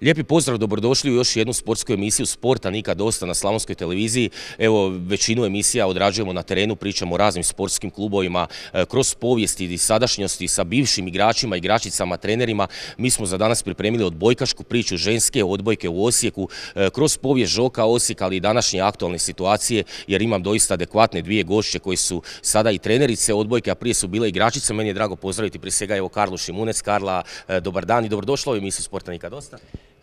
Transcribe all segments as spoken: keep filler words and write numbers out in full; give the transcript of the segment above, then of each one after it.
Lijepi pozdrav, dobrodošli u još jednu sportsku emisiju Sporta nikad dosta na Slavonskoj televiziji. Evo, većinu emisija odrađujemo na terenu, pričamo o raznim sportskim klubovima, kroz povijesti i sadašnjosti sa bivšim igračima, igračicama, trenerima. Mi smo za danas pripremili odbojkašku priču ženske odbojke u Osijeku, kroz povijest Žoka Osijek, ali i današnje aktualne situacije, jer imam doista adekvatne dvije gošće koji su sada i trenerice odbojke, a prije su bile igračice. Meni je drago pozdraviti prije svega evo Karlu Šimunec. Karla, dobar dan i dobrodošla u emisiju Sporta nikad dosta.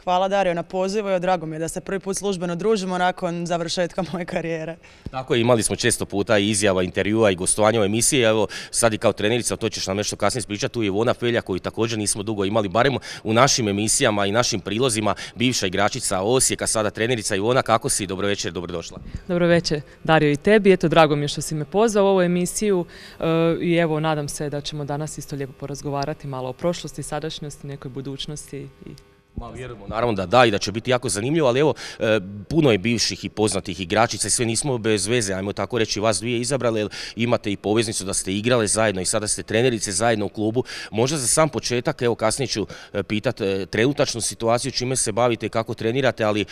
Hvala Dario na pozivu i drago mi je da se prvi put službeno družimo nakon završetka moje karijere. Tako je, imali smo često puta i izjava, intervjua i gostovanja u emisiji. Evo sad i kao trenerica, to ćeš nam nešto kasnije ispričati, tu je Ivona Felja koju također nismo dugo imali, barem u našim emisijama i našim prilozima, bivša igračica Osijeka, sada trenerica. Ivona, kako si? Dobro večer, dobrodošla. Dobro večer Dario i tebi, eto drago mi je što si me pozvao u ovu emisiju i evo nadam se da ćemo danas isto lijepo porazgovarati malo o prošlosti, sadašnjosti, nekoj budućnosti i Ma, vjerujemo naravno da da i da će biti jako zanimljivo, ali evo, e, puno je bivših i poznatih igračica i sve nismo bez veze, ajmo tako reći, vas dvije izabrali, jer imate i poveznicu da ste igrale zajedno i sada ste trenerice zajedno u klubu. Možda za sam početak, evo kasnije ću pitati e, trenutačnu situaciju, čime se bavite i kako trenirate, ali e,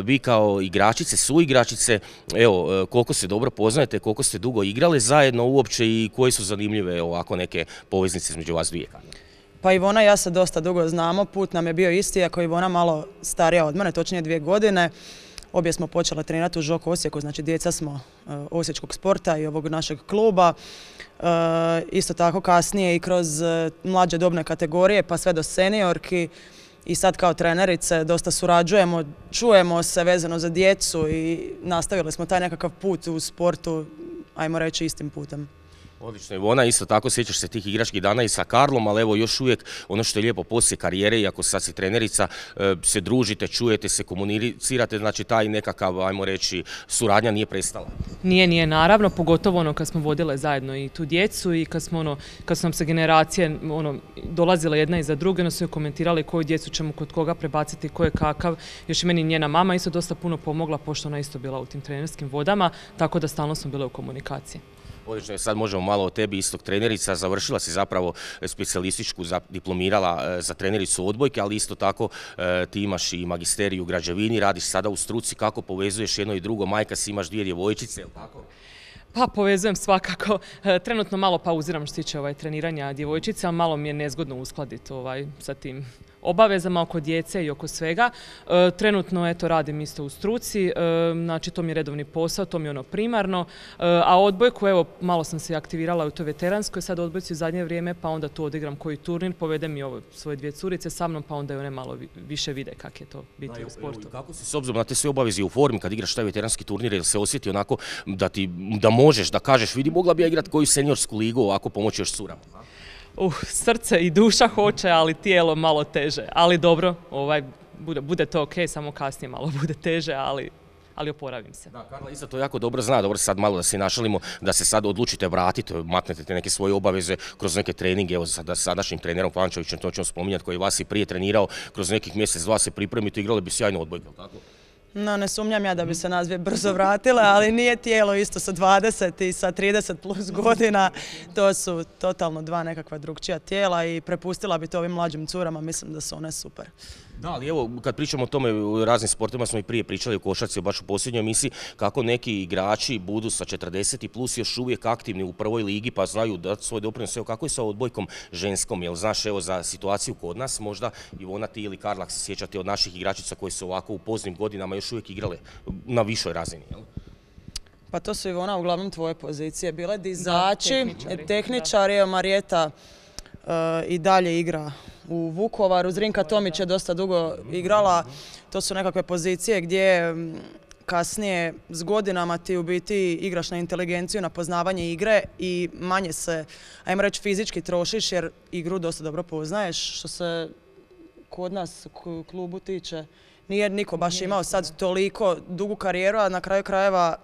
vi kao igračice, suigračice, evo, e, koliko se dobro poznajete, koliko ste dugo igrale zajedno uopće i koje su zanimljive ovako neke poveznice između vas dvije? Pa Ivona i ja se dosta dugo znamo, put nam je bio isti, ako je Ivona malo starija od mene, točnije dvije godine. Obje smo počele trenirati u Žok Osijeku, znači djeca smo uh, osječkog sporta i ovog našeg kluba. Uh, isto tako kasnije i kroz uh, mlađe dobne kategorije pa sve do seniorki. I sad kao trenerice dosta surađujemo, čujemo se vezano za djecu i nastavili smo taj nekakav put u sportu, ajmo reći, istim putem. Odlično, Ivona, isto tako sjećaš se tih igračkih dana i sa Karlom, ali evo još uvijek ono što je lijepo poslije karijere, iako sad si trenerica, se družite, čujete se, komunicirate, znači taj nekakav, ajmo reći, suradnja nije prestala. Nije, nije naravno, pogotovo ono kad smo vodile zajedno i tu djecu i kad smo ono, kad su nam se generacije ono, dolazile jedna iza druge, ono su joj komentirali koju djecu ćemo kod koga prebaciti, ko je kakav. Još i meni njena mama isto dosta puno pomogla, pošto ona isto bila u tim trenerskim vodama, tako da stalno smo bile u komunikaciji. Odlično, sad možemo malo o tebi, istog trenerica, završila si zapravo specijalističku, diplomirala za trenericu odbojke, ali isto tako ti imaš i magisteriju u građevini, radiš sada u struci, kako povezuješ jedno i drugo, majka si, imaš dvije djevojčice, jel tako? Pa povezujem svakako, trenutno malo pauziram što se tiče ovaj, treniranja djevojčice, ali malo mi je nezgodno uskladiti ovaj, sa tim obavezama oko djece i oko svega. E, trenutno eto radim isto u struci, e, znači to mi je redovni posao, to mi je ono primarno, e, a odbojku evo malo sam se aktivirala u toj veteranskoj, sad odbojci u zadnje vrijeme, pa onda tu odigram koji turnir, povedem i ovo svoje dvije curice sa mnom, pa onda i one malo više vide kak je to biti da, u sportu. Evo, kako si s obzirom na te sve obaveze u formi kad igraš taj veteranski turnir, jel se osjeti onako da ti da možeš, da kažeš vidi mogla bi ja igrati koju seniorsku ligu ovako pomoći još curama? Uh, srce i duša hoće, ali tijelo malo teže. Ali dobro, ovaj, bude, bude to ok, samo kasnije malo bude teže, ali, ali oporavim se. Da, Karla isto to jako dobro zna, dobro sad malo da se našalimo, da se sad odlučite vratiti, maknete te neke svoje obaveze kroz neke treninge, evo sa sadašnjim trenerom Pančevićem, to ćemo spominjati, koji vas i prije trenirao, kroz nekih mjesec, dva se pripremite, igrali bi sjajno odbojke, tako? No, ne sumnjam ja da bi se nas dvije brzo vratile, ali nije tijelo isto sa dvadeset i sa trideset plus godina. To su totalno dva nekakva drugčija tijela i prepustila bi to ovim mlađim curama, mislim da su one super. Da, ali evo, kad pričamo o tome, u raznim sportima smo i prije pričali o košarci, baš u posljednjoj emisiji, kako neki igrači budu sa četrdeset plus još uvijek aktivni u prvoj ligi, pa znaju dati svoj doprinos. Evo, kako je sa odbojkom ženskom? Jel znaš, evo, za situaciju kod nas, možda Ivona, ti ili Karla se sjećate od naših igračica koji su ovako u poznim godinama još uvijek igrale na višoj razini, jel? Pa to su, Ivona, uglavnom tvoje pozicije bile dizači, da, tehničari, tehničari evo Marijeta uh, i dalje igra u Vukovaru, Zrinka Tomić je dosta dugo igrala, to su nekakve pozicije gdje kasnije s godinama ti u biti igraš na inteligenciju, na poznavanje igre i manje se, ajmo reći, fizički trošiš jer igru dosta dobro poznaješ, što se kod nas u klubu tiče. Nije niko baš imao sad toliko dugu karijeru, a na kraju krajeva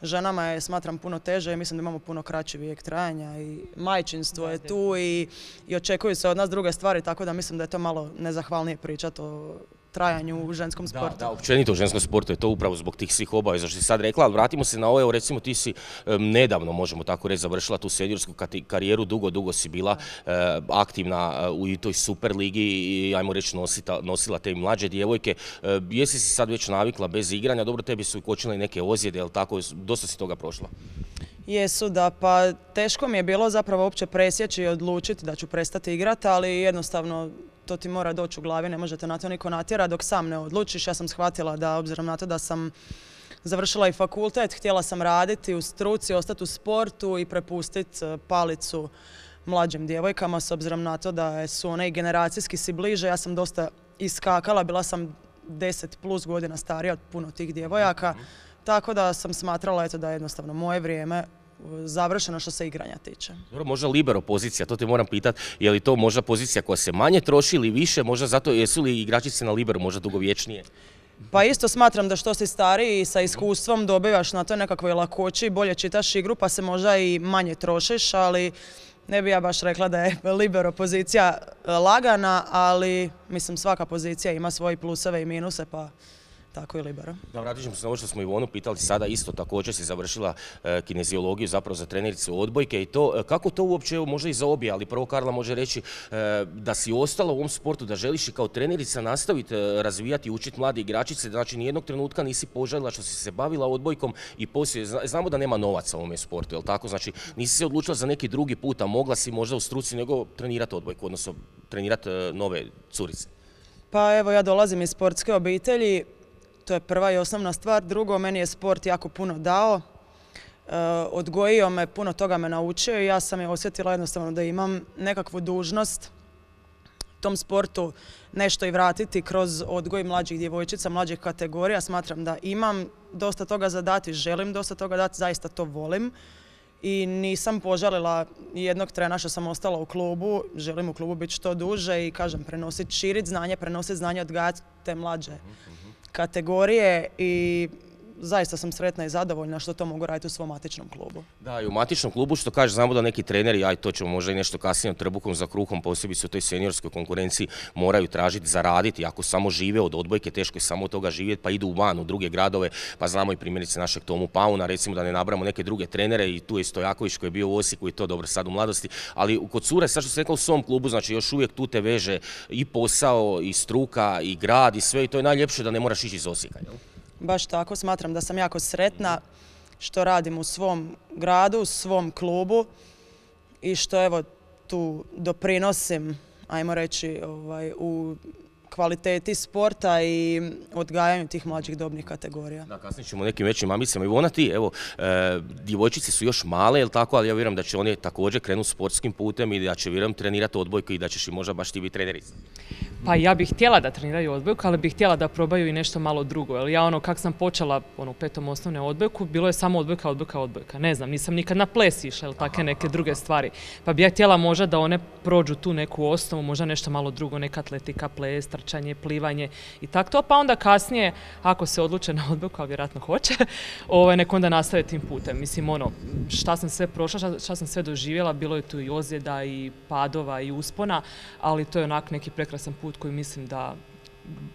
ženama je, smatram, puno teže i mislim da imamo puno kraći vijek trajanja i majčinstvo je tu i, i očekuju se od nas druge stvari, tako da mislim da je to malo nezahvalnije pričati o trajanju u ženskom sportu. Da, da, općenito u ženskom sportu je to upravo zbog tih svih obaveza što si sad rekla, ali vratimo se na ovo, evo recimo ti si um, nedavno, možemo tako reći, završila tu seniorsku karijeru, dugo, dugo si bila uh, aktivna uh, u toj super ligi i ajmo reći nosita, nosila te mlađe djevojke. Uh, jesi si sad već navikla bez igranja, dobro tebi su kočile neke ozljede, jel tako, dosta si toga prošla? Jesu, da, pa teško mi je bilo zapravo uopće presjeći i odlučiti da ću prestati igrati, ali jednostavno to ti mora doći u glavi, ne možete na to niko natjera dok sam ne odlučiš. Ja sam shvatila da, obzirom na to da sam završila i fakultet, htjela sam raditi u struci, ostati u sportu i prepustiti palicu mlađim djevojkama, s obzirom na to da su one i generacijski si bliže. Ja sam dosta iskakala, bila sam deset plus godina starija od puno tih djevojaka, tako da sam smatrala eto, da je jednostavno moje vrijeme završeno što se igranja tiče. Dobro, možda libero pozicija, to te moram pitati, je li to možda pozicija koja se manje troši ili više, možda zato jesu li igračice na liberu možda dugovječnije? Pa isto smatram da što si stariji i sa iskustvom dobivaš na toj nekakvoj lakoći, bolje čitaš igru pa se možda i manje trošiš, ali ne bi ja baš rekla da je libero pozicija lagana, ali mislim svaka pozicija ima svoje pluseve i minuse pa tako i libero. Da, vratit ćemo se na ovo što smo Ivonu pitali sada, isto također si završila e, kineziologiju zapravo za trenericu odbojke i to, e, kako to uopće, evo, možda i za obje, ali prvo Karla može reći e, da si ostala u ovom sportu, da želiš i kao trenerica nastaviti e, razvijati i učiti mlade igračice, znači nijednog trenutka nisi požalila što si se bavila odbojkom i poslije, znamo da nema novaca u ovom sportu, jel tako, znači nisi se odlučila za neki drugi put, a mogla si možda u struci nego trenirati odbojku, odnosno trenirati e, nove curice. Pa evo, ja dolazim iz sportske obitelji. To je prva i osnovna stvar. Drugo, meni je sport jako puno dao. E, odgojio me, puno toga me naučio i ja sam je osjetila jednostavno da imam nekakvu dužnost tom sportu nešto i vratiti kroz odgoj mlađih djevojčica, mlađih kategorija. Smatram da imam dosta toga za dati, želim dosta toga dati, zaista to volim. I nisam požalila jednog trena što sam ostala u klubu, želim u klubu biti što duže i kažem, prenositi, širiti znanje, prenositi znanje, odgajati te mlađe kategorije i zaista sam sretna i zadovoljna što to mogu raditi u svom matičnom klubu. Da, i u matičnom klubu što kaže, znamo da neki treneri, aj to ćemo možda i nešto kasnije trbukom za kruhom, posebice u toj seniorskoj konkurenciji, moraju tražiti, zaraditi. Ako samo žive od odbojke, teško je samo od toga živjeti, pa idu van u druge gradove, pa znamo i primjerice našeg Tomu Pauna, recimo da ne nabramo neke druge trenere, i tu je Stojaković koji je bio u Osijeku i to dobro sad u mladosti, ali kod cure, sad što se rekao u svom klubu, znači još uvijek tu te veže i posao, i struka, i grad, i sve, i to je najljepše da ne moraš ići iz Osijeka, jel? Baš tako, smatram da sam jako sretna što radim u svom gradu, u svom klubu i što evo tu doprinosim, ajmo reći, ovaj, u kvaliteti sporta i odgajanju tih mlađih dobnih kategorija. Da, kasnije ćemo o nekim većim ambicama. Ivona, ti, evo, e, djevojčice su još male, jel tako, ali ja vjerujem da će one također krenuti sportskim putem i da će, vjerujem, trenirati odbojku i da ćeš i možda baš ti biti trenerica. Pa ja bih htjela da treniraju odbojku, ali bih htjela da probaju i nešto malo drugo. Jer ja ono, kak sam počela ono, u petom osnovne odbojku, bilo je samo odbojka, odbojka, odbojka. Ne znam, nisam nikad na ples išla ili takve neke druge stvari. Pa bi ja htjela možda da one prođu tu neku osnovu, možda nešto malo drugo, neka atletika, ples, trčanje, plivanje i tako to. Pa onda kasnije, ako se odluče na odbojku, a vjerojatno hoće, ovaj, nek onda nastave tim putem. Mislim, ono, šta sam sve prošla, šta, šta sam sve doživjela, bilo je tu i ozljeda, i padova, i uspona, ali to je onak neki prekrasan put koji mislim da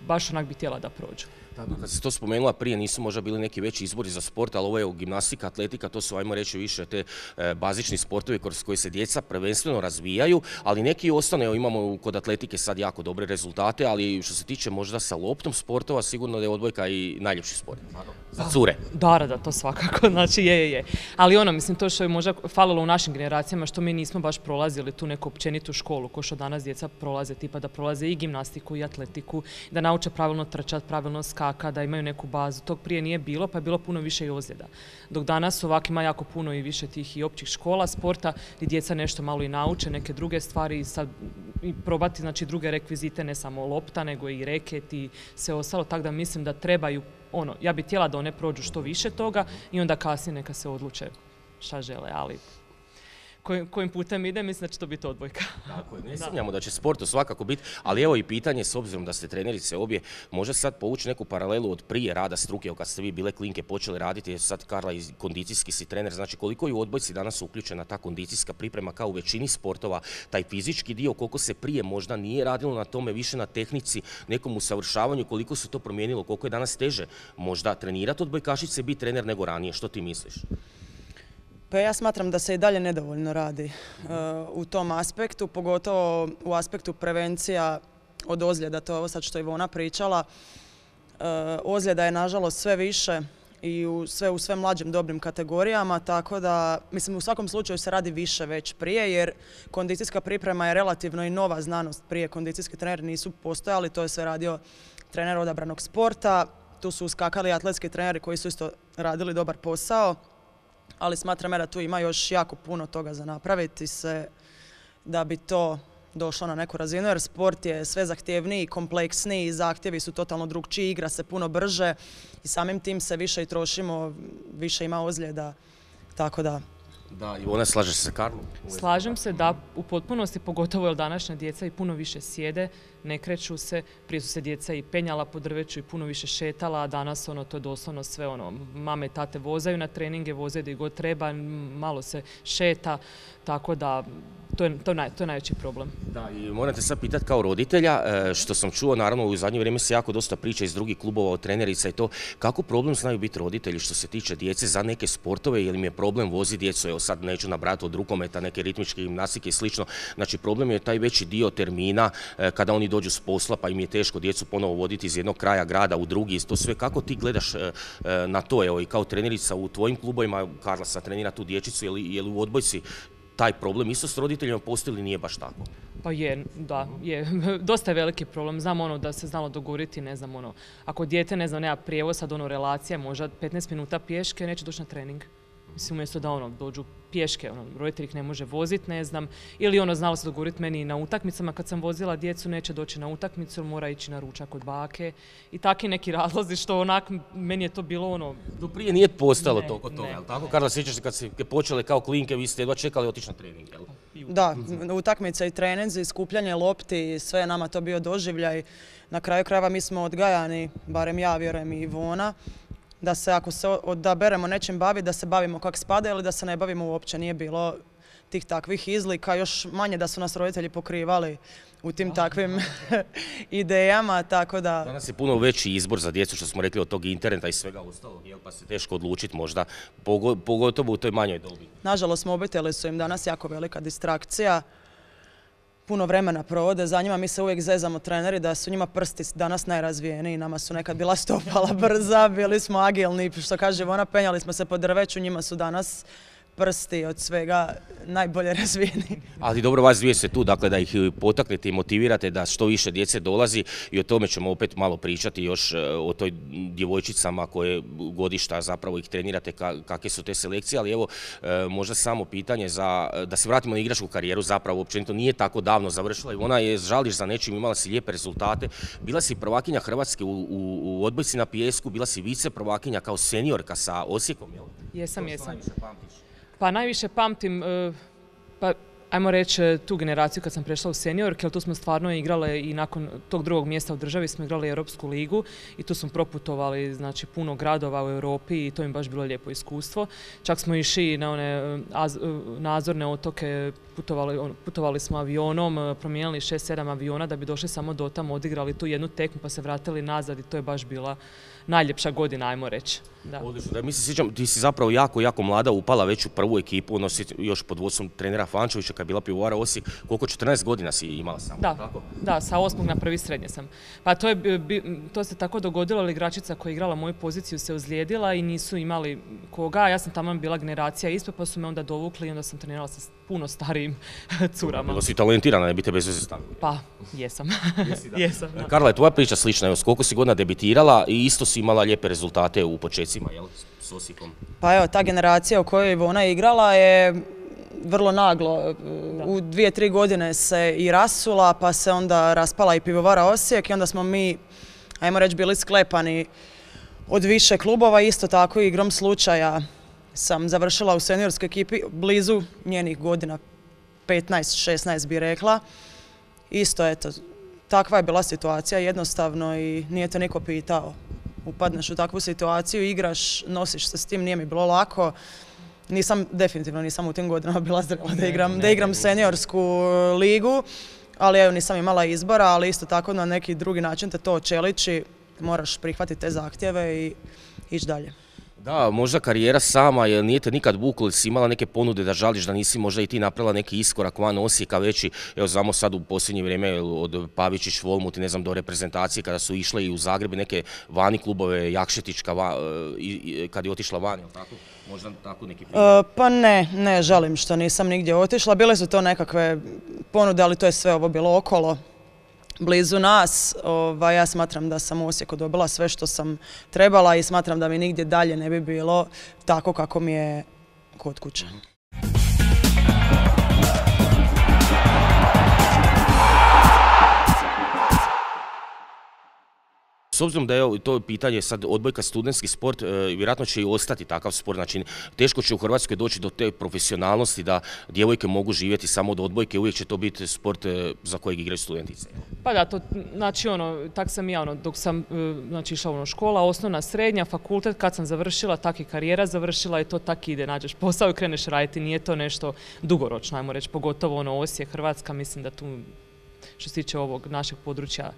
baš onak bi htjela da prođu. Kad si to spomenula prije, nisu možda bili neki veći izbori za sport, ali ovo je gimnastika, atletika, to su, ajmo reći, više te e, bazični sportovi kroz koji se djeca prvenstveno razvijaju, ali neki ostane, evo, imamo kod atletike sad jako dobre rezultate, ali što se tiče možda sa loptom sportova, sigurno da je odbojka i najljepši sport. Za cure. Da, da, to svakako, znači je, je, je. Ali ono, mislim, to što je možda falilo u našim generacijama, što mi nismo baš prolazili tu neku općenitu školu, ko što danas djeca prolaze, tipa da prolaze i gimnastiku i atletiku, da nauče pravilno trčati, pravilno skakati, da imaju neku bazu. Tog prije nije bilo, pa je bilo puno više i ozljeda. Dok danas ovak ima jako puno i više tih i općih škola sporta gdje djeca nešto malo i nauče, neke druge stvari i sad i probati, znači, druge rekvizite, ne samo lopta, nego i reket i sve ostalo, tako da mislim da trebaju, ono, ja bih htjela da one prođu što više toga i onda kasnije neka se odluče šta žele, ali kojim, kojim putem ide, mislim da će to biti odbojka. Tako je, ne sumnjamo da će sportu svakako biti, ali evo i pitanje, s obzirom da ste trenerice obje, može sad povući neku paralelu od prije rada struke, kad ste vi bile klinke počeli raditi, jer sad Karla i kondicijski si trener, znači koliko je u odbojci danas uključena ta kondicijska priprema kao u većini sportova, taj fizički dio, koliko se prije možda nije radilo na tome, više na tehnici, nekom usavršavanju, koliko se to promijenilo, koliko je danas teže možda trenirati odbojkašice, biti trener nego ranije, što ti misliš? Pa ja smatram da se i dalje nedovoljno radi uh, u tom aspektu, pogotovo u aspektu prevencija od ozljeda, to je ovo sad što je Ivona pričala. Uh, ozljeda je nažalost sve više i u sve, u sve mlađim dobrim kategorijama, tako da, mislim, u svakom slučaju se radi više već prije, jer kondicijska priprema je relativno i nova znanost. Prije kondicijski treneri nisu postojali, to je sve radio trener odabranog sporta, tu su uskakali atletski treneri koji su isto radili dobar posao, ali smatram da tu ima još jako puno toga za napraviti se da bi to došlo na neku razinu, jer sport je sve zahtjevniji, kompleksniji, zahtjevi su totalno drukčiji, igra se puno brže i samim tim se više i trošimo, više ima ozljeda, tako da. Da, i ona slaže se sa Karlom? Slažem se da u potpunosti, pogotovo jer današnja djeca i puno više sjede, ne kreću se, prije su se djeca i penjala po drveću i puno više šetala, a danas ono, to je doslovno sve ono, mame i tate vozaju na treninge, voze gdje god treba, malo se šeta, tako da to je, to je, naj, to je najveći problem. Da, i morate sad pitati kao roditelja, što sam čuo, naravno u zadnje vrijeme se jako dosta priča iz drugih klubova od trenerica i to, kako problem znaju biti roditelji što se tiče djece za neke sportove, jer im je problem vozi djecu, evo sad neću nabrati od rukometa, neke ritmičke gimnastike i slično, znači problem je taj veći dio termina kada oni dođu s posla pa im je teško djecu ponovo voditi iz jednog kraja grada u drugi, to sve, kako ti gledaš na to, evo i kao trenerica u tvojim klubovima, Karla sad trenira tu dječicu, je li, je li u odbojci taj problem isto s roditeljima postoji ili nije baš tako? Pa je, da, je. Dosta je veliki problem. Znam ono da se znalo dogovoriti, ne znam ono, ako dijete, ne znam, nema prijevoz, sad ono relacija, možda petnaest minuta pješke, neće doći na trening. Mislim, umjesto da ono, dođu pješke, ono, roditelj ih ne može voziti, ne znam, ili ono, znalo se dogovoriti meni na utakmicama, kad sam vozila djecu, neće doći na utakmicu, mora ići na ručak od bake i takvi neki razlozi što onak, meni je to bilo ono... Do prije nije postalo toliko toga, jel tako? Karla, sjećaš se kad ste počele kao klinke, vi ste jedva čekali otići na trening, jel? Da, utakmice i treninzi, skupljanje lopti, sve je nama to bio doživljaj. Na kraju krajeva mi smo odgajani, barem ja, vjerujem i Ivona, da se ako se odaberemo nečim baviti, da se bavimo kako spada ili da se ne bavimo uopće. Nije bilo tih takvih izlika, još manje da su nas roditelji pokrivali u tim takvim idejama, tako da... Danas je puno veći izbor za djecu, što smo rekli, od tog interneta i svega ostalog, jel, pa se teško odlučiti možda, pogotovo u toj manjoj dobi. Nažalost, mobiteli su im danas jako velika distrakcija. Puno vremena provode za njima, mi se uvijek zezamo treneri da su njima prsti danas najrazvijeniji, nama su nekad bila stopala brza, bili smo agilni, što kaže Ivona, penjali smo se po drveću, njima su danas prsti od svega najbolje razvijeni. Ali dobro, vas dvije ste tu, dakle da ih potaknete i motivirate da što više djece dolazi i o tome ćemo opet malo pričati još o toj djevojčicama koje godišta zapravo ih trenirate, kakve su te selekcije, ali evo možda samo pitanje za, da se vratimo na igračku karijeru, zapravo općenito nije tako davno završila i ona je, žališ za nečim, imala si lijepe rezultate, bila si prvakinja Hrvatske u, u, u odbojci na pijesku, bila si vice prvakinja kao seniorka sa Osijekom, jel? Jesam, jesam. Pa najviše pamtim, pa ajmo reći tu generaciju kad sam prešla u seniorke, ali tu smo stvarno igrale i nakon tog drugog mjesta u državi smo igrali Europsku ligu i tu smo proputovali znači, puno gradova u Europi i to im baš bilo lijepo iskustvo. Čak smo išli na one nadzorne otoke, putovali, putovali smo avionom, promijenili šest sedam aviona da bi došli samo do tamo, odigrali tu jednu tekmu pa se vratili nazad i to je baš bila najljepša godina, ajmo reći. Da. Odlično, da mi se sjećam, ti si zapravo jako, jako mlada upala već u prvu ekipu, ono si još pod vodstvom trenera Fančevića kad je bila pivovara Osijek, koliko četrnaest godina si imala samo, da, tako? Da, sa osmog na prvi srednje sam. Pa to, je, to se tako dogodilo, ali igračica koja je igrala moju poziciju se ozlijedila i nisu imali koga, ja sam tamo bila generacija ispod pa su me onda dovukli i onda sam trenirala sa puno starijim curama. Bilo si talentirana, ne bi te bez veze stavili. Pa, jesam. Jesi, da. Jesam, da. Karla, je tvoja priča slična, evo, s koliko si godina debitirala i isto si imala lijepe rezultate u počecima, jel, s Osijekom? Pa evo, ta generacija u kojoj je Ivona igrala je vrlo naglo. U dvije, tri godine se i rasula, pa se onda raspala i pivovara Osijek i onda smo mi, ajmo reći, bili sklepani od više klubova, isto tako igrom slučaja sam završila u seniorskoj ekipi blizu njenih godina, petnaest šesnaest bi rekla. Isto, eto, takva je bila situacija jednostavno i nije te niko pitao. Upadneš u takvu situaciju, igraš, nosiš se s tim, nije mi bilo lako. Nisam, definitivno nisam u tim godinama bila zrela da igram, da igram seniorsku ligu, ali evo nisam imala izbora, ali isto tako na neki drugi način te to očeliči, moraš prihvatiti te zahtjeve i ići dalje. Da, možda karijera sama, jer nije te nikad vuklo, si imala neke ponude da žališ da nisi možda i ti napravila neki iskorak van Osijeka veći, evo znamo sad u posljednje vrijeme od Pavičić, Volmut i ne znam do reprezentacije kada su išle i u Zagreb i neke vani klubove, Jakšetićka kad je otišla van, je li tako? Možda tako neki primjer? Uh, pa ne, ne žalim što nisam nigdje otišla, bile su to nekakve ponude, ali to je sve ovo bilo okolo. Blizu nas, ovaj, ja smatram da sam u Osijeku dobila sve što sam trebala i smatram da mi nigdje dalje ne bi bilo tako kako mi je kod kuće. S obzirom da je to pitanje sad odbojka studentski sport, vjerojatno će i ostati takav sport, znači teško će u Hrvatskoj doći do te profesionalnosti da djevojke mogu živjeti samo od odbojke, uvijek će to biti sport za kojeg igraju studentice. Pa da, to, znači ono, tak sam ja, ono, dok sam znači, išla ono, škola, osnovna, srednja, fakultet, kad sam završila, tak i karijera završila i to tak ide, nađeš posao i kreneš raditi, nije to nešto dugoročno, ajmo reći, pogotovo ono Osijek, Hrvatska, mislim da tu što se tiče ovog našeg područja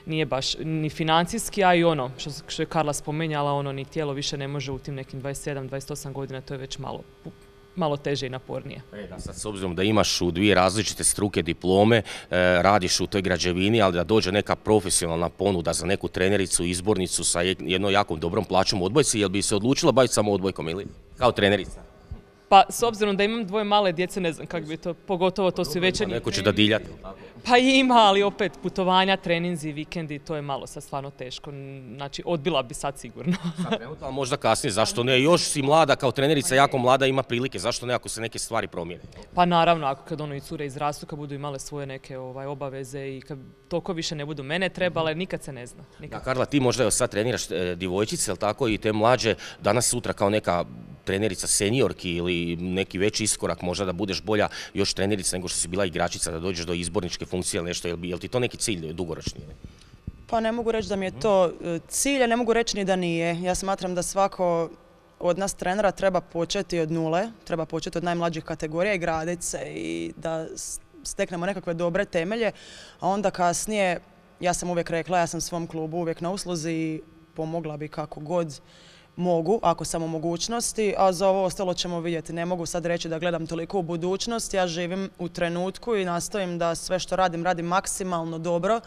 nije baš ni financijski, a i ono što, što je Karla spomenjala, ono ni tijelo više ne može u tim nekim dvadeset sedam dvadeset osam godina, to je već malo, malo teže i napornije. E, da, sad s obzirom da imaš u dvije različite struke diplome, e, radiš u toj građevini, ali da dođe neka profesionalna ponuda za neku trenericu, izbornicu sa jednom jakom dobrom plaćom u odbojci, jel bi se odlučila baviti samo odbojkom ili kao trenerica? Pa s obzirom da imam dvoje male djece, ne znam kako bi to, pogotovo to su večernji. Neko će da diljati. Pa ima, ali opet putovanja, treninzi, vikendi, to je malo sad stvarno teško. Znači, odbila bi sad sigurno. Sad trenutno, ali možda kasnije, zašto ne? Još si mlada kao trenerica, jako mlada, ima prilike, zašto ne ako se neke stvari promijene? Pa naravno, ako kad ono i cure izrastu, kad budu imale svoje neke ovaj, obaveze i kad toliko više ne budu mene trebale, nikad se ne zna. Nikad. Da, Karla, ti možda evo sad treniraš e, djevojčice, jel tako, i te mlađe, danas sutra kao neka trenerica seniorki ili neki veći iskorak, možda da budeš bolja još trenerica nego što si bila igračica, da dođeš do izborničke funkcije ili nešto, jel, jel ti to neki cilj dugoročni? Pa ne mogu reći da mi je to cilj, a ne mogu reći ni da nije. Ja smatram da svako od nas trenera treba početi od nule, treba početi od najmlađih kategorija i graditi se i da steknemo nekakve dobre temelje, a onda kasnije, ja sam uvijek rekla, ja sam svom klubu uvijek na usluzi i pomogla bi kako god mogu, ako sam u mogućnosti, a za ovo ostalo ćemo vidjeti. Ne mogu sad reći da gledam toliko u budućnost, ja živim u trenutku i nastojim da sve što radim, radim maksimalno dobro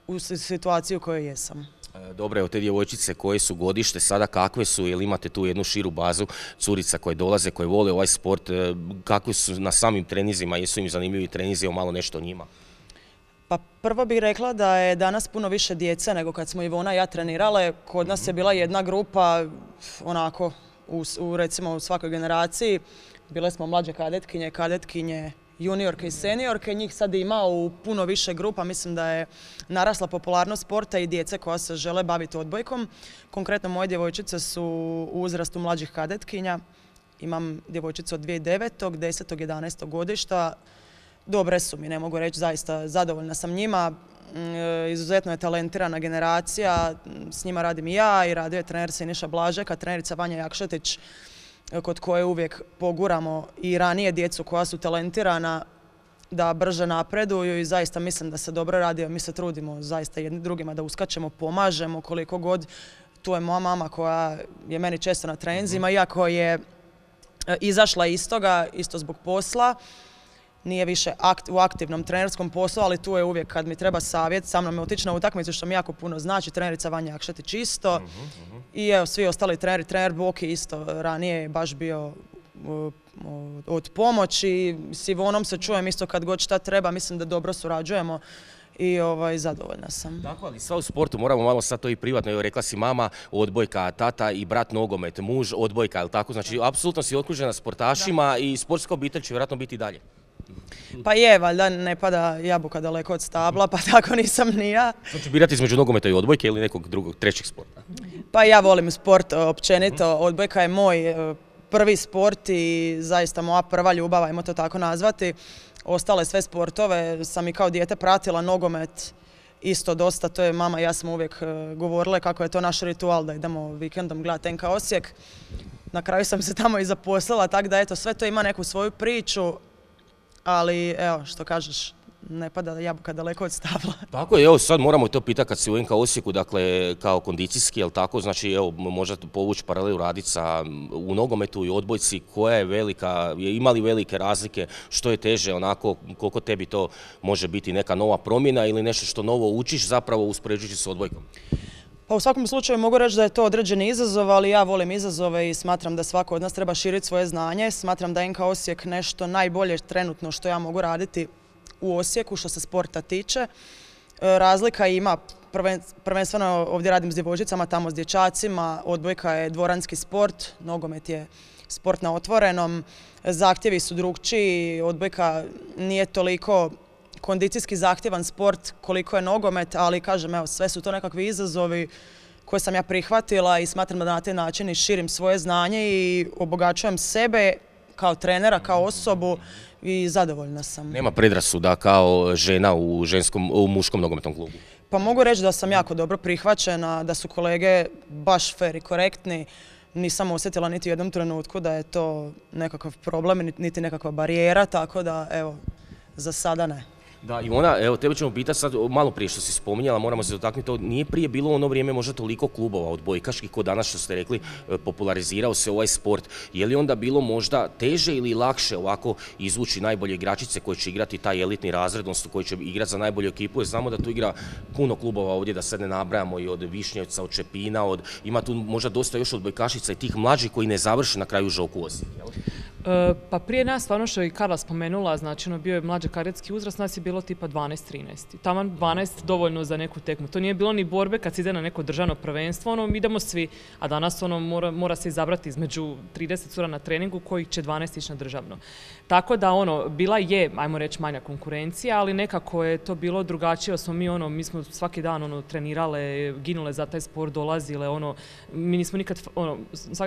u situaciji u kojoj jesam. Dobro, evo te djevojčice koje su godište, sada kakve su, jel imate tu jednu širu bazu curica koje dolaze, koje vole ovaj sport, kakvi su na samim trenizima, jesu im zanimljivi trenizi, evo malo nešto o njima? Pa prvo bih rekla da je danas puno više djece nego kad smo Ivona i ja trenirale. Kod nas je bila jedna grupa, onako, u, u recimo u svakoj generaciji. Bile smo mlađe kadetkinje, kadetkinje, juniorke i seniorke. Njih sad ima u puno više grupa. Mislim da je narasla popularnost sporta i djece koja se žele baviti odbojkom. Konkretno moje djevojčice su u uzrastu mlađih kadetkinja. Imam djevojčicu od dvije tisuće devetog, desetog, jedanaestog godišta. Dobre su mi, ne mogu reći, zaista zadovoljna sam njima. Izuzetno je talentirana generacija, s njima radim i ja i radio je trener Siniša Blažeka, trenerica Vanja Jakšetić, kod koje uvijek poguramo i ranije djecu koja su talentirana da brže napreduju i zaista mislim da se dobro radi, mi se trudimo zaista jedni drugima da uskačemo, pomažemo koliko god. Tu je moja mama koja je meni često na treninzima, iako je izašla iz toga, isto zbog posla. Nije više akt, u aktivnom trenerskom poslu, ali tu je uvijek kad mi treba savjet, sa mnom je otići na utakmicu što mi jako puno znači, trenerica Vanja Jakšetić isto. Uh-huh, uh-huh. I evo, svi ostali treneri, trener Boki isto ranije je baš bio uh, od pomoći. S Ivonom se čujem isto kad god šta treba, mislim da dobro surađujemo i ovaj, zadovoljna sam. Tako, ali sva u sportu, moramo malo sad to i privatno, evo rekla si mama odbojka, tata i brat nogomet, muž odbojka, ali tako, znači apsolutno si okružena sportašima da. I sportska obitelj će vjerojatno biti dalje. Pa je, valjda ne pada jabuka daleko od stabla, pa tako nisam ni ja. Što ću birati između nogometa i odbojke ili nekog drugog, trećeg sporta? Pa ja volim sport općenito, odbojka je moj prvi sport i zaista moja prva ljubav, ajmo to tako nazvati. Ostale sve sportove sam i kao dijete pratila, nogomet isto dosta, to je mama i ja smo uvijek govorile kako je to naš ritual da idemo vikendom gledati N K Osijek. Na kraju sam se tamo i zaposlila, tako da eto, sve to ima neku svoju priču, ali evo, što kažeš, ne pada jabuka daleko od stabla. Tako je, evo sad moramo to pitati kad si u N K Osijeku, dakle kao kondicijski, jel tako, znači evo možda povući paralelu raditi sa u nogometu i odbojci, koja je velika, ima li velike razlike, što je teže onako, koliko tebi to može biti neka nova promjena ili nešto što novo učiš zapravo uspoređujući s odbojkom? Pa u svakom slučaju mogu reći da je to određeni izazov, ali ja volim izazove i smatram da svako od nas treba širiti svoje znanje. Smatram da je N K Osijek nešto najbolje trenutno što ja mogu raditi u Osijeku što se sporta tiče. Razlika ima, prvenstveno ovdje radim s djevojčicama, tamo s dječacima, odbojka je dvoranski sport, nogomet je sport na otvorenom, zahtjevi su drukčiji, odbojka nije toliko kondicijski zahtjevan sport koliko je nogomet, ali kažem, evo, sve su to nekakvi izazovi koje sam ja prihvatila i smatram da na taj način i širim svoje znanje i obogaćujem sebe kao trenera, kao osobu i zadovoljna sam. Nema predrasuda kao žena u, ženskom, u muškom nogometnom klubu? Pa mogu reći da sam jako dobro prihvaćena, da su kolege baš fer i korektni. Nisam osjetila niti u jednom trenutku da je to nekakav problem, niti nekakva barijera, tako da evo, za sada ne. Da, Ivona, evo tebe ćemo pitati sad, malo prije što si spominjala, moramo se dotaknuti to, nije prije bilo u ono vrijeme možda toliko klubova odbojkaških ko danas što ste rekli, popularizirao se ovaj sport, je li onda bilo možda teže ili lakše ovako izvući najbolje igračice koje će igrati taj elitni razred, odnosno koji će igrati za najbolju ekipu, jer znamo da tu igra puno klubova ovdje, da sad ne nabrajamo i od Višnjevca, od Čepina, od, ima tu možda dosta još odbojkašica i tih mlađih koji ne završe na kraju Žoku Osijek, jel? Pa prije nas, stvarno što je i Karla spomenula, znači ono bio je mlađi kadetski uzrast, nas je bilo tipa dvanaest trinaest. Taman dvanaest dovoljno za neku tekmu. To nije bilo ni borbe kad se ide na neko državno prvenstvo, ono idemo svi, a danas ono mora, mora se izabrati između trideset cura na treningu kojih će dvanaest ići na državno. Tako da ono, bila je, ajmo reći, manja konkurencija, ali nekako je to bilo drugačije, smo mi ono, mi smo svaki dan ono trenirale, ginule za taj sport, dolazile, ono, mi nismo nikad, ono,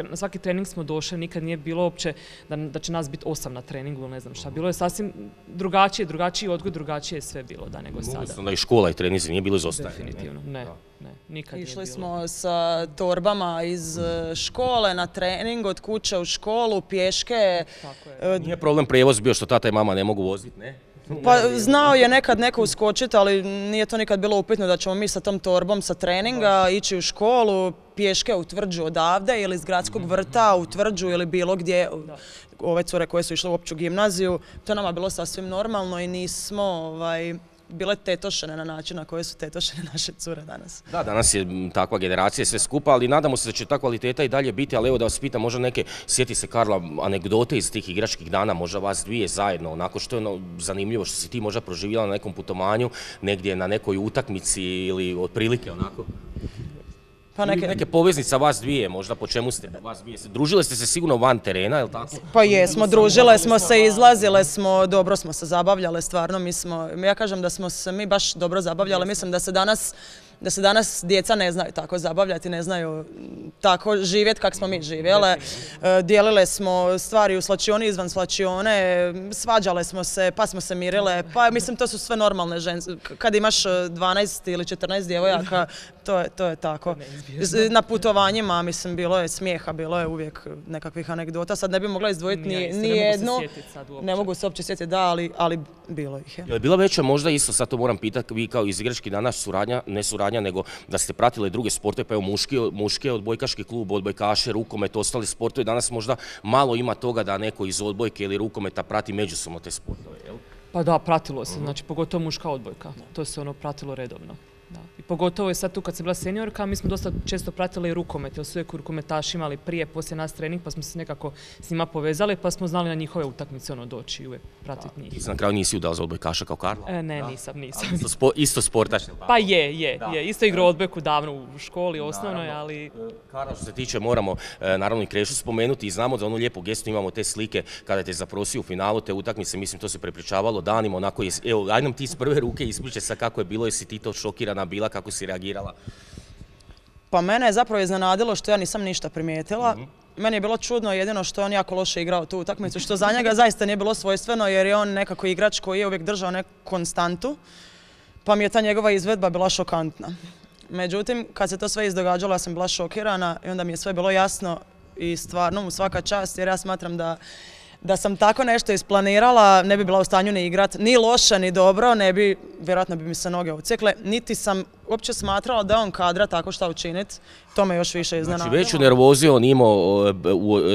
na svaki trening smo došli, nikad nije bilo uopće da da će nas biti osam na treningu ili ne znam šta. Bilo je sasvim drugačije, drugačiji odgoj, drugačije je sve bilo da nego sada. Onda i škola i treninzi nije bilo izostajanje. Definitivno, ne, ne, nikad nije bilo. Išli smo sa torbama iz škole na trening, od kuće u školu, pješke. Tako je. Nije problem prijevoz bio što tata i mama ne mogu voziti, ne? Pa znao je nekad neko uskočiti, ali nije to nikad bilo upitno da ćemo mi sa tom torbom sa treninga ići u školu, pješke u Tvrđu odavde ili iz gradskog vrta u Tvrđu ili bilo gdje. Ove cure koje su išle u opću gimnaziju, to nama bilo sasvim normalno i nismo ovaj, bile tetošene na način na koje su tetošene naše cure danas. Da, danas je takva generacija sve skupa, ali nadamo se da će ta kvaliteta i dalje biti, ali evo da vas pitam, možda neke, sjeti se Karla, anegdote iz tih igračkih dana, možda vas dvije zajedno, onako što je ono zanimljivo, što si ti možda proživjela na nekom putovanju, negdje na nekoj utakmici ili otprilike onako? Pa neke... neke poveznice vas dvije, možda po čemu ste vas dvije? Družile ste se sigurno van terena, je li tako? Pa jesmo, družile smo se, izlazile smo, dobro smo se zabavljale, stvarno mi smo, ja kažem da smo se mi baš dobro zabavljale, mislim da se danas da se danas djeca ne znaju tako zabavljati, ne znaju tako živjeti kako smo mi živjele. Dijelile smo stvari u slačioni, izvan slačione, svađale smo se, pa smo se mirile, pa mislim to su sve normalne ženske. Kad imaš dvanaest ili četrnaest djevojaka, to je, to je tako. Na putovanjima, mislim, bilo je smijeha, bilo je uvijek nekakvih anegdota. Sad ne bi mogla izdvojiti ni, ni jednu, ne mogu se uopće sjetiti, da, ali, ali bilo ih je. Je li bila veća možda isto, sad to moram pitati, vi kao iz igračkih dana suradnja, ne suradnja, nego da ste pratili druge sportove, pa evo muški, muški odbojkaški klub, odbojkaše, rukomet, ostali sportovi, danas možda malo ima toga da neko iz odbojke ili rukometa prati međusobno te sportove, jel? Pa da, pratilo se, znači pogotovo muška odbojka, to se ono pratilo redovno. Da. I pogotovo je sad tu kad sam bila seniorka, mi smo dosta često pratili rukomet, jer su uvijek rukometaši imali prije, poslije nas trening, pa smo se nekako s njima povezali, pa smo znali na njihove utakmice ono doći i uvijek pratiti njih. Ti se na kraju nisi udala za odbojkaša kao Karla? E, ne, da? nisam, nisam. Isto, spo, isto sportaš? Pa je, je, da. je. Isto igrao odbojku davno u školi, osnovnoj, ali... Karla, što se tiče, moramo naravno i Krešu spomenuti i znamo da onu lijepu gestu imamo te slike kada te zaprosio u finalu te utakmice, mislim to se prepričavalo danima, onako je, evo, aj nam ti iz prve ruke ispričaj sa kako je bilo, jesi ti to šokirana bila, kako si reagirala? Pa mene je zapravo iznenadilo što ja nisam ništa primijetila. Mm-hmm. meni je bilo čudno jedino što je on jako loše igrao tu utakmicu, što za njega zaista nije bilo svojstveno jer je on nekako igrač koji je uvijek držao neku konstantu, pa mi je ta njegova izvedba bila šokantna. Međutim, kad se to sve izdogađalo, ja sam bila šokirana i onda mi je sve bilo jasno i stvarno mu svaka čast jer ja smatram da Da sam tako nešto isplanirala, ne bi bila u stanju ni igrat, ni loše, ni dobro, ne bi, vjerojatno bi mi se noge odsjekle, niti sam uopće smatrala da je on kadra tako šta učiniti, to me još više iznenadilo. Znači veću nervoziju on imao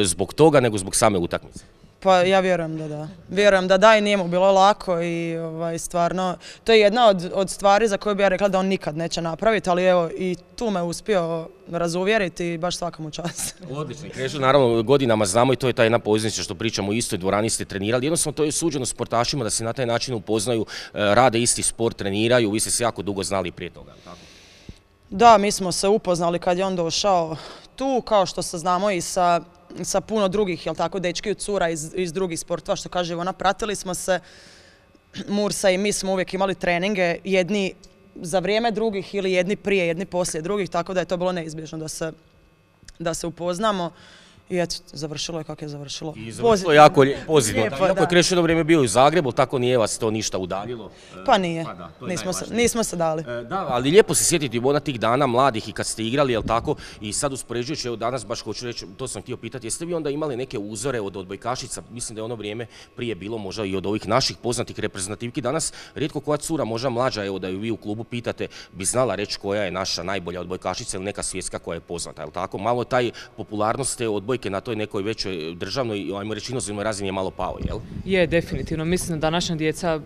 zbog toga nego zbog same utakmice? Pa ja vjerujem da da. Vjerujem da da i nije mu bilo lako i ovaj, stvarno, to je jedna od, od stvari za koju bi ja rekla da on nikad neće napraviti, ali evo i tu me uspio razuvjeriti i baš svaka mu čast. Odlično. Krešo, naravno godinama znamo i to je ta jedna poveznica što pričamo u istoj dvorani ste trenirali. Jednostavno to je suđeno sportašima da se na taj način upoznaju, rade isti sport, treniraju, vi ste se jako dugo znali prije toga, tako? Da, mi smo se upoznali kad je on došao tu, kao što se znamo i sa sa puno drugih, jel tako, dečki i cura iz, iz drugih sportova, što kaže Ivona, pratili smo se, Mursa i mi smo uvijek imali treninge, jedni za vrijeme drugih ili jedni prije, jedni poslije drugih, tako da je to bilo neizbježno da se, da se upoznamo. I eto, završilo je kako je završilo. I završilo je jako pozitivno. Iako je Krešo jedno vrijeme bio u Zagrebu, tako nije vas to ništa udaljilo? Pa nije, pa da, nismo, se, nismo se dali. E, da, ali lijepo se sjetiti Ivona tih dana mladih i kad ste igrali, jel tako, i sad uspoređujući, evo danas baš hoću reći, to sam htio pitati, jeste vi onda imali neke uzore od odbojkašica, mislim da je ono vrijeme prije bilo možda i od ovih naših poznatih reprezentativki, danas rijetko koja cura, možda mlađa, evo da ju vi u klubu pitate, bi znala reći koja je naša najbolja odbojkašica ili neka svjetska koja je poznata, jel tako? Malo taj popularnost te odbojke na toj nekoj većoj državnoj, ajmo reći inozemnoj razini je malo pao, jel? Je, definitivno. Mislim da današnja djeca,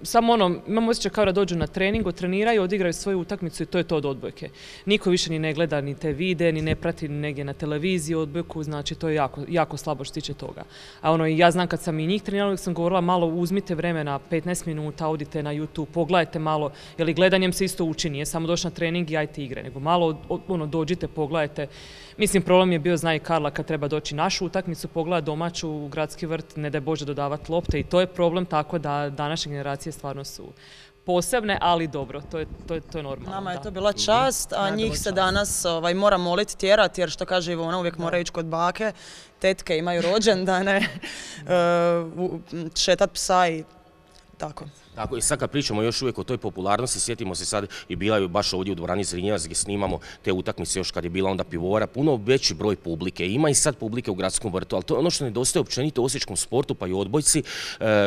samo ono, imamo osjećaj kao da dođu na trening, treniraju, odigraju svoju utakmicu i to je to od odbojke. Niko više ni ne gleda ni te vide, ni ne prati negdje na televiziji odbojku, znači to je jako, jako slabo što tiče toga. A ono, ja znam kad sam i njih trenirala, uvijek sam govorila malo uzmite vremena, petnaest minuta, odite na YouTube, pogledajte malo, jer gledanjem se isto uči, nije samo doći na trening i ajte igre, nego malo ono, dođite, pogledajte. Mislim, problem je bio, zna i Karla, kad treba doći našu utakmicu, pogleda domaću u Gradski vrt, ne daj Bože dodavati lopte i to je problem, tako da današnje generacije stvarno su posebne, ali dobro, to je, to je, to je normalno. Nama je to bila čast, a njih se danas ovaj, mora moliti, tjerati, jer što kaže Ivona, uvijek mora ići kod bake, tetke imaju rođendane, šetat psa i tako. Tako i sad kad pričamo još uvijek o toj popularnosti, sjetimo se sad i bila je baš ovdje u dvorani Zrinjevac gdje snimamo te utakmice još kad je bila onda pivovara, puno veći broj publike, ima i sad publike u Gradskom vrtu, ali to je ono što nedostaje općenito u osječkom sportu pa i odbojci,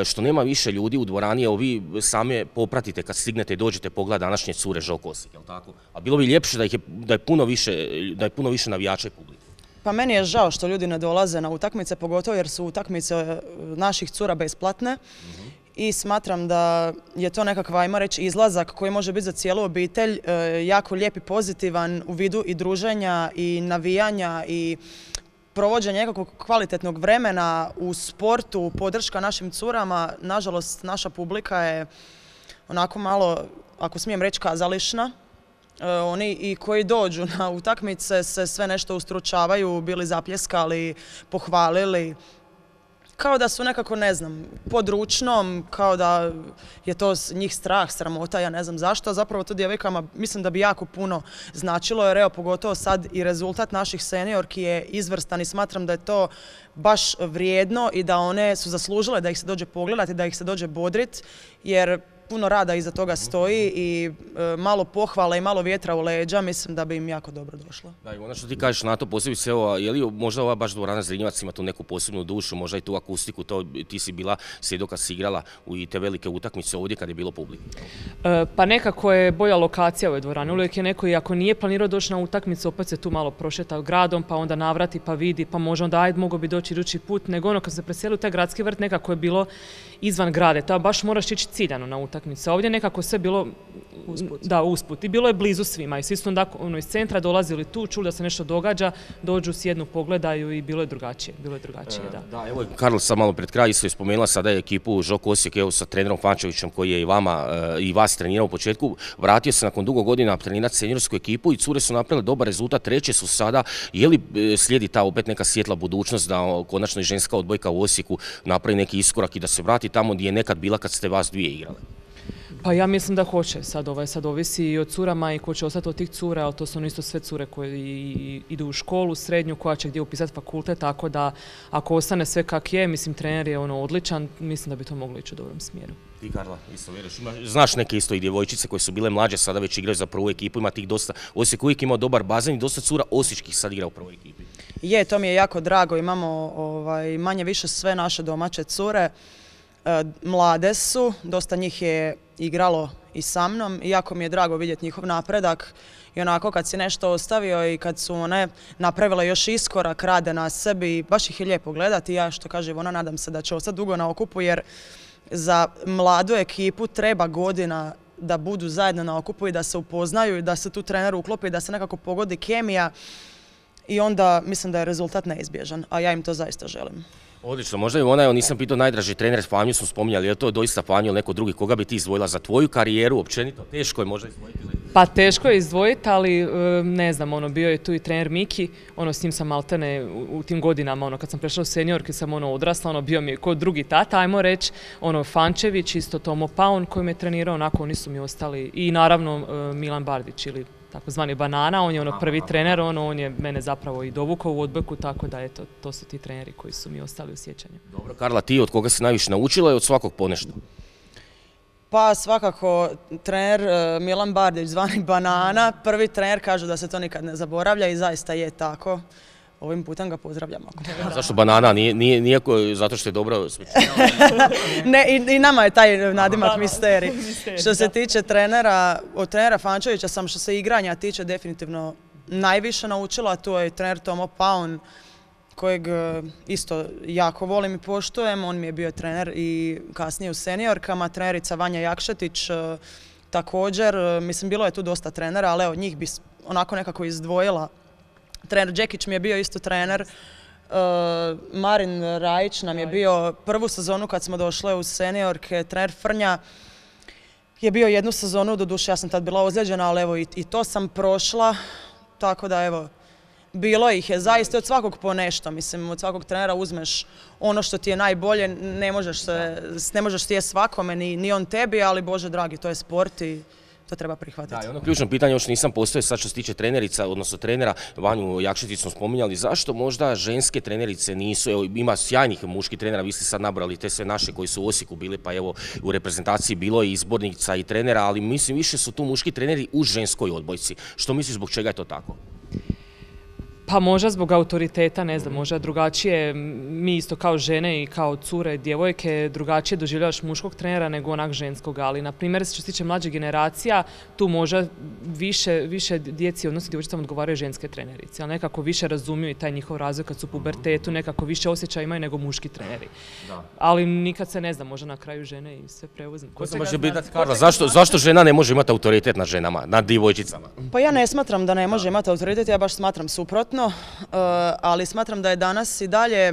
što nema više ljudi u dvorani, evo vi same popratite kad stignete i dođete pogled današnje cure Žok Osijek, jel tako? A bilo bi ljepše da, ih je, da, je puno više, da je puno više navijača i publike. Pa meni je žao što ljudi ne dolaze na utakmice, pogotovo jer su utakmice naših cura besplatne. Mm-hmm. I smatram da je to nekakav, ajmo reći, izlazak koji može biti za cijelu obitelj jako lijep i pozitivan u vidu i druženja i navijanja i provođenja nekakvog kvalitetnog vremena u sportu, podrška našim curama. Nažalost, naša publika je onako malo, ako smijem reći, kazališna. Oni i koji dođu na utakmice se sve nešto ustručavaju, bili zapljeskali, pohvalili. Kao da su nekako, ne znam, pod ručnom, kao da je to njih strah, sramota, ja ne znam zašto. Zapravo to djevojkama mislim da bi jako puno značilo, jer evo pogotovo sad i rezultat naših seniorki je izvrstan i smatram da je to baš vrijedno i da one su zaslužile da ih se dođe pogledati, da ih se dođe bodrit, jer puno rada iza toga stoji i e, malo pohvala i malo vjetra u leđa, mislim da bi im jako dobro došlo. Da, i ono što ti kažeš na to posebice, je li možda ova baš dvorana Zrinjevac ima tu neku posebnu dušu, možda i tu akustiku, to ti si bila svjedok kad si igrala u i te velike utakmice ovdje kad je bilo publike? E, pa nekako je bolja lokacija u ovoj dvorani, uvijek je neko i ako nije planirao doći na utakmicu, opet se tu malo prošeta gradom, pa onda navrati, pa vidi, pa može onda ajde, mogo bi doći idući put, nego ono kad se preselio taj Gradski vrt, nekako je bilo izvan grade, to baš moraš ići ciljano na utakmicu. Ovdje nekako sve bilo usput. Da, usput. I bilo je blizu svima. I svi su onda ono, iz centra dolazili tu, čuli da se nešto događa, dođu, sjednu, pogledaju i bilo je drugačije. Bilo je drugačije, e, da. Da, evo, Karl sam malo pred kraj isto je spomenula sada je ekipu Žok Osijek, evo sa trenerom Fančevićem koji je i vama e, i vas trenirao u početku. Vratio se nakon dugo godina trenirati seniorsku ekipu i cure su napravile dobar rezultat, treće su sada. Je li e, slijedi ta opet neka svjetla budućnost da o, konačno i ženska odbojka u Osijeku napravi neki iskorak i da se vrati tamo gdje je nekad bila kad ste vas dvije igrali? Pa ja mislim da hoće. Sad, ovaj, sad ovisi i o curama i ko će ostati od tih cura, ali to su ono isto sve cure koje i, idu u školu, srednju, koja će gdje upisati fakultet, tako da ako ostane sve kak je, mislim trener je ono odličan, mislim da bi to moglo ići u dobrom smjeru. Ti Karla, isto vjeruješ, znaš neke isto i djevojčice koje su bile mlađe, sada već igraju za prvu ekipu, ima tih dosta, Osijek uvijek imao dobar bazen i dosta cura osječkih sad igra u prvoj ekipi. Je, to mi je jako drago, imamo ovaj, manje više sve naše domaće cure, e, mlade su, dosta njih je igralo i sa mnom i jako mi je drago vidjeti njihov napredak i onako kad si nešto ostavio i kad su one napravile još iskorak, rade na sebi, baš ih je lijepo gledati i ja što kaže Ivona nadam se da će ostati dugo na okupu jer za mladu ekipu treba godina da budu zajedno na okupu i da se upoznaju i da se tu trener uklopi i da se nekako pogodi kemija i onda mislim da je rezultat neizbježan, a ja im to zaista želim. Odlično, možda i ona, evo nisam pitao najdraži trener, Fanju smo spominjali, je li to doista Fanju ili neko drugi, koga bi ti izdvojila za tvoju karijeru, općenito, teško je možda izdvojiti? Pa teško je izdvojiti, ali ne znam, ono, bio je tu i trener Miki, ono, s njim sam maltene u, u tim godinama, ono, kad sam prešla u seniorke, sam ono, odrasla, ono, bio mi je kod drugi tata, ajmo reći, ono, Fančević, isto Tomo Paun koji me trenirao, onako, oni su mi ostali, i naravno Milan Bardić ili takozvani Banana, on je ono prvi trener, ono, on je mene zapravo i dovukao u odbojku, tako da eto, to su ti treneri koji su mi ostali u sjećanju. Dobro, Karla, ti od koga si najviše naučila i od svakog ponešto? Pa svakako trener Milan Bardić, zvani Banana, prvi trener, kažu da se to nikad ne zaboravlja i zaista je tako. Ovim putem ga pozdravljam. A zašto Banana? Nije, nije, nije zato što je dobro smječenjava? Ne, i, i nama je taj nadimak misteri. Što se tiče trenera, od trenera Fančevića sam što se igranja tiče definitivno najviše naučila, to je trener Tomo Paun, kojeg isto jako volim i poštujem. On mi je bio trener i kasnije u seniorkama, trenerica Vanja Jakšetić također. Mislim, bilo je tu dosta trenera, ali evo, njih bi onako nekako izdvojila. Trener Đekić mi je bio isto trener, uh, Marin Rajić nam je bio prvu sezonu kad smo došle u seniorke, trener Frnja je bio jednu sezonu, doduše ja sam tad bila ozlijeđena, ali evo i, i to sam prošla, tako da evo, bilo ih je zaista od svakog po nešto, mislim od svakog trenera uzmeš ono što ti je najbolje, ne možeš, se, ne možeš ti je svakome, ni, ni on tebi, ali Bože dragi, to je sport i to treba prihvatiti. Da, i ono ključno pitanje još nisam postoje sad što se tiče trenerica, odnosno trenera, Vanju Jakšetić smo spominjali, zašto možda ženske trenerice nisu, evo ima sjajnih muških trenera, vi ste sad nabrali te sve naše koji su u Osijeku bili, pa evo u reprezentaciji bilo i izbornica i trenera, ali mislim više su tu muški treneri u ženskoj odbojci. Što misliš zbog čega je to tako? Pa možda zbog autoriteta, ne znam, možda drugačije, mi isto kao žene i kao cure, djevojke, drugačije doživljavaš muškog trenera nego onak ženskog, ali na primjer što se tiče mlađe generacija, tu možda više, više djeci, odnosno djevojčicama odgovaraju ženske trenerice, ali nekako više razumiju i taj njihov razvoj kad su u pubertetu, nekako više osjećaja imaju nego muški treneri. Da. Ali nikad se ne zna, možda na kraju žene i sve preuzme. Ko se može biti, Karla, zašto, zašto žena ne može imati autoritet nad ženama, nad djevojčicama? Pa ja ne smatram da ne može imati autoritet, ja baš smatram suprotno. Ali smatram da je danas i dalje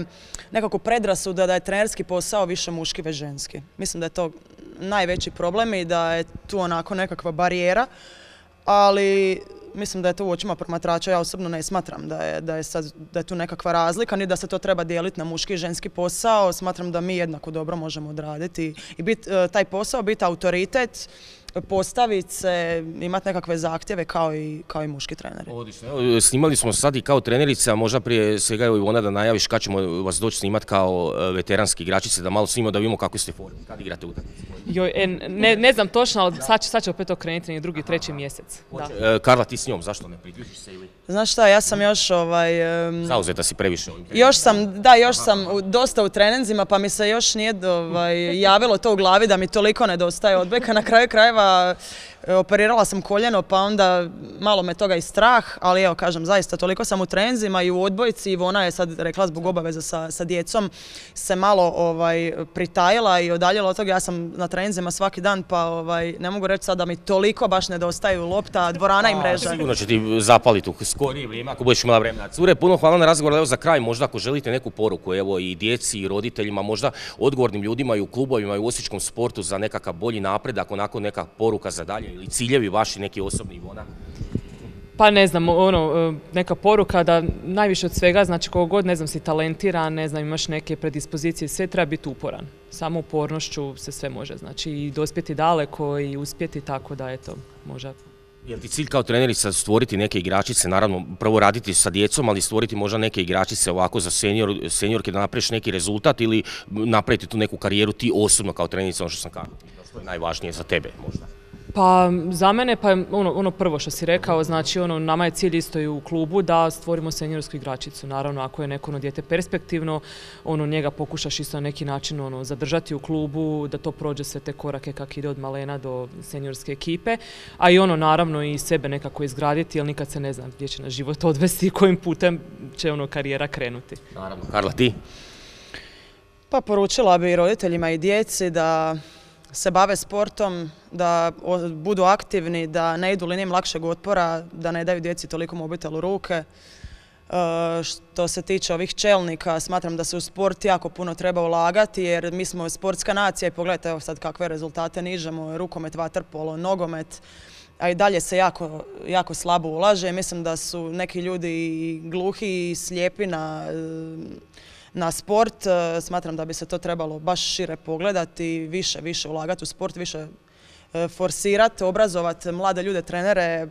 nekako predrasuda da je trenerski posao više muški već ženski. Mislim da je to najveći problem i da je tu onako nekakva barijera, ali mislim da je to u očima promatrača, ja osobno ne smatram da je, da je, sad, da je tu nekakva razlika, ni da se to treba dijeliti na muški i ženski posao. Smatram da mi jednako dobro možemo odraditi i bit, taj posao, biti autoritet, postaviti se, imati nekakve zahtjeve kao i, kao i muški treneri. Odlično. Snimali smo sad i kao trenerice, a možda prije svega evo Ivona da najaviš kad ćemo vas doći snimati kao veteranski igračice, da malo snimamo da vidimo kako ste formi, kad igrate utakmice. Joj, e, ne, ne znam točno, ali sad će, sad će opet okrenuti na drugi, treći mjesec. Da. Karla, ti s njom, zašto ne priključiš se ili? Znaš šta, ja sam još ovaj... Um, Zauzeta si previše ovim. Još sam, da, još sam u, dosta u treninzima, pa mi se još nije ovaj, javilo to u glavi da mi toliko nedostaje odbojka. Na kraju krajeva operirala sam koljeno, pa onda malo me toga i strah, ali evo kažem, zaista toliko sam u treninzima i u odbojci. Ivona je sad rekla zbog obaveza sa, sa djecom se malo ovaj, pritajila i odaljila od toga. Ja sam na treninzima svaki dan, pa ovaj, ne mogu reći sad da mi toliko baš nedostaju lopta, dvorana i mreža. Sigurno će ti zapaliti u skorije vrijeme ako budeš imala vremena. Cure, puno hvala na razgovor. Evo za kraj, možda ako želite neku poruku, evo i djeci i roditeljima, možda odgovornim ljudima i u klubovima i u osječkom sportu za nekakav bolji napredak, onako neka poruka za dalje ili ciljevi vaši neki osobni, Ivona? Pa ne znam, ono, neka poruka da najviše od svega, znači koliko god, ne znam, si talentiran, ne znam, imaš neke predispozicije, sve treba biti uporan. Samo upornošću se sve može, znači i dospjeti daleko i uspjeti, tako da eto, može. Je li ti cilj kao trenerica stvoriti neke igračice, naravno prvo raditi sa djecom, ali stvoriti možda neke igračice ovako za senior, seniorke da napraviš neki rezultat ili napraviti tu neku karijeru ti osobno kao trenica, ono što sam kazao, što je najvažnije za tebe možda? Pa za mene, pa ono, ono prvo što si rekao, znači ono, nama je cilj isto i u klubu da stvorimo seniorsku igračicu. Naravno, ako je neko ono dijete perspektivno, ono, njega pokušaš isto na neki način ono, zadržati u klubu, da to prođe sve te korake kak ide od malena do seniorske ekipe, a i ono, naravno, i sebe nekako izgraditi, jer nikad se ne zna gdje će na život odvesti i kojim putem će ono, karijera krenuti. Naravno. Karla, ti? Pa poručila bi roditeljima i djeci da se bave sportom, da budu aktivni, da ne idu linijom lakšeg otpora, da ne daju djeci toliko mobitel u ruke. E, što se tiče ovih čelnika, smatram da se u sport jako puno treba ulagati, jer mi smo sportska nacija i pogledajte evo sad kakve rezultate nižemo, rukomet, vaterpolo, nogomet, a i dalje se jako, jako slabo ulaže. Mislim da su neki ljudi gluhi i slijepi na na sport. Smatram da bi se to trebalo baš šire pogledati, više, više ulagati u sport, više forsirati, obrazovati mlade ljude, trenere,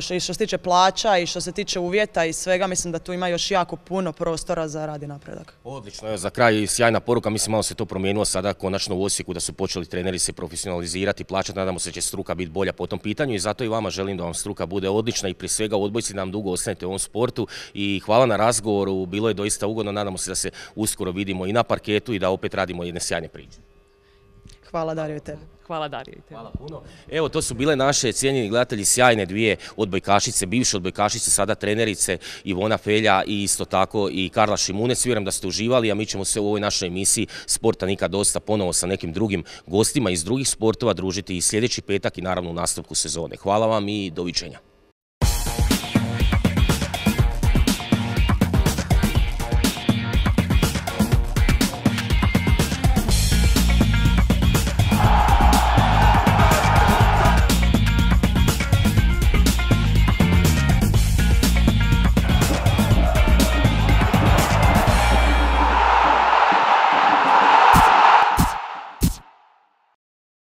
što, što se tiče plaća i što se tiče uvjeta i svega. Mislim da tu ima još jako puno prostora za rad i napredak. Odlično, evo, za kraj sjajna poruka, mislim malo se to promijenilo sada konačno u Osijeku da su počeli treneri se profesionalizirati, plaćati, nadamo se da će struka biti bolja po tom pitanju i zato i vama želim da vam struka bude odlična i prije svega u odbojci da nam dugo ostanete u ovom sportu i hvala na razgovoru, bilo je doista ugodno, nadamo se da se uskoro vidimo i na parketu i da opet radimo jedne sjajne priče. Hvala Dario i tebi. Hvala Dario i tebi. Hvala puno. Evo, to su bile naše cijenjeni gledatelji, sjajne dvije odbojkašice, bivše odbojkašice, sada trenerice, Ivona Felja i isto tako i Karla Šimunec. Vjerujem da ste uživali, a mi ćemo se u ovoj našoj emisiji Sporta nikad dosta ponovo sa nekim drugim gostima iz drugih sportova družiti i sljedeći petak i naravno u nastavku sezone. Hvala vam i doviđenja.